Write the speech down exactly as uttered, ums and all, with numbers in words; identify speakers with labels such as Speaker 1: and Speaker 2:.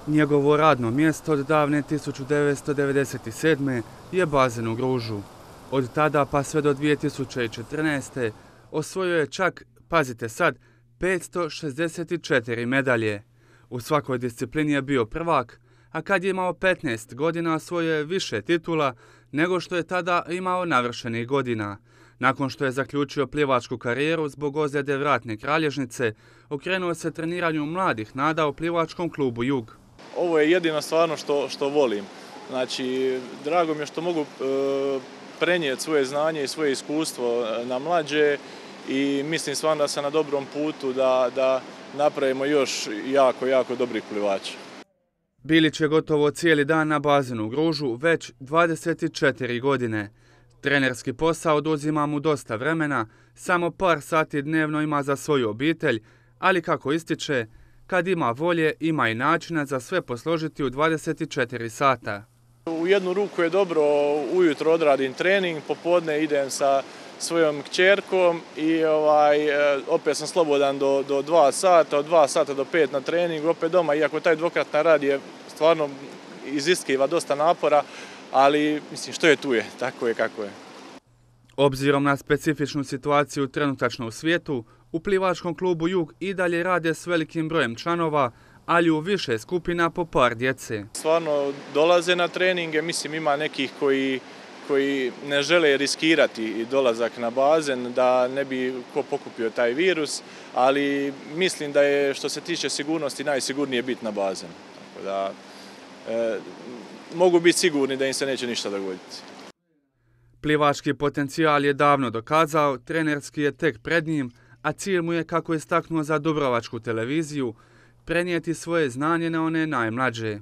Speaker 1: Njegovo radno mjesto od davne tisuću devetsto devedeset sedme. je bazen u Gružu. Od tada pa sve do dvije tisuće četrnaeste. osvojio je čak, pazite sad, petsto šezdeset četiri medalje. U svakoj disciplini je bio prvak, a kad je imao petnaest godina osvojio je više titula nego što je tada imao navršenih godina. Nakon što je zaključio plivačku karijeru zbog ozljede vratne kralježnice, okrenuo se treniranju mladih nada u plivačkom klubu Jug.
Speaker 2: Ovo je jedino stvarno što, što volim. Znači, drago mi je što mogu e, prenijeti svoje znanje i svoje iskustvo na mlađe i mislim stvarno da sam na dobrom putu da, da napravimo još jako, jako dobrih plivača.
Speaker 1: Bilić je gotovo cijeli dan na bazenu u Gružu već dvadeset četiri godine. Trenerski posao oduzima mu dosta vremena, samo par sati dnevno ima za svoju obitelj, ali kako ističe, kad ima volje, ima i načina za sve posložiti u dvadeset četiri sata.
Speaker 2: U jednu ruku je dobro, ujutro odradim trening, popodne idem sa svojom kćerkom i ovaj, opet sam slobodan do, do dva sata, od dva sata do pet na treningu, opet doma, iako taj dvokratna rad je stvarno iziskiva dosta napora, ali mislim što je tu je, tako je kako je.
Speaker 1: Obzirom na specifičnu situaciju trenutačno u svijetu, u plivačkom klubu Jug i dalje rade s velikim brojem članova, ali u više skupina po par djece.
Speaker 2: Stvarno dolaze na treninge, mislim ima nekih koji, koji ne žele riskirati dolazak na bazen da ne bi ko pokupio taj virus, ali mislim da je što se tiče sigurnosti najsigurnije biti na bazenu. Tako da e, mogu biti sigurni da im se neće ništa dogoditi.
Speaker 1: Plivački potencijal je davno dokazao, trenerski je tek pred njim, a cilj mu je, kako je istaknuo za Dubrovačku televiziju, prenijeti svoje znanje na one najmlađe.